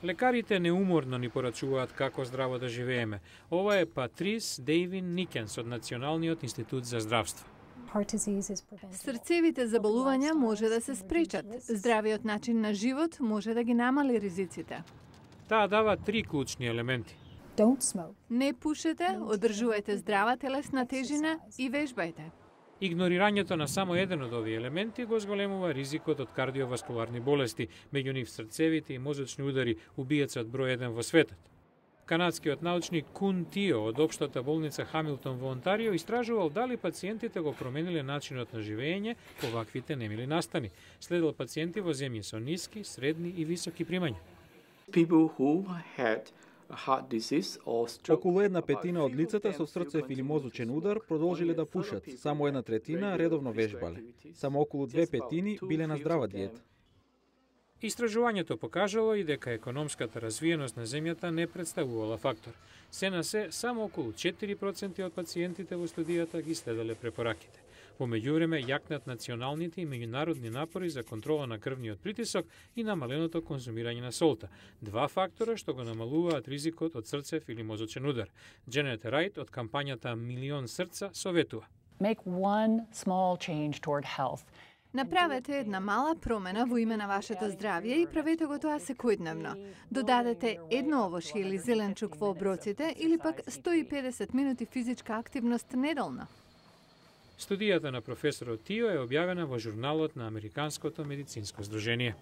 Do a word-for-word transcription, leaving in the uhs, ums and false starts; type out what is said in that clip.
Лекарите неуморно ни порачуваат како здраво да живееме. Ова е Патрис Дейвин Никенс од Националниот институт за здравство. Срцевите заболувања може да се спречат. Здравиот начин на живот може да ги намали ризиците. Таа дава три клучни елементи. Не пушете, одржувајте здрава телесна тежина и вежбајте. Игнорирањето на само еден од овие елементи го зголемува ризикот од кардиоваскуларни болести, меѓу нив срцевите и мозочни удари, убиецот број еден во светот. Канадскиот научник Кун Тио од општата болница Хамилтон во Онтарио истражувал дали пациентите го промениле начинот на живење по ваквите немили настани. Следел пациенти во земји со ниски, средни и високи примања. People who had heart disease or stroke. Околу една петина од лицата со срцев или мозочен удар продолжиле да пушат, само една третина редовно вежбале. Само околу две петини биле на здрава диета. Истражувањето покажало и дека економската развиеност на земјата не представувала фактор. Се на се, само околу четири проценти од пациентите во студијата ги следеле препораките. Во меѓувреме јакнат националните и меѓународни напори за контрола на крвниот притисок и намаленото конзумирање на солта, два фактора што го намалуваат ризикот од срцев или мозочен удар. Дженет Рајт од кампањата Милион срца советува. Make one small change toward health. Направете една мала промена во име на вашето здравје и правете го тоа секојдневно. Додадете едно овошје или зеленчук во оброците или пак сто и педесет минути физичка активност неделно. Студијата на професорот Тио е објавена во журналот на Американското медицинско здружение.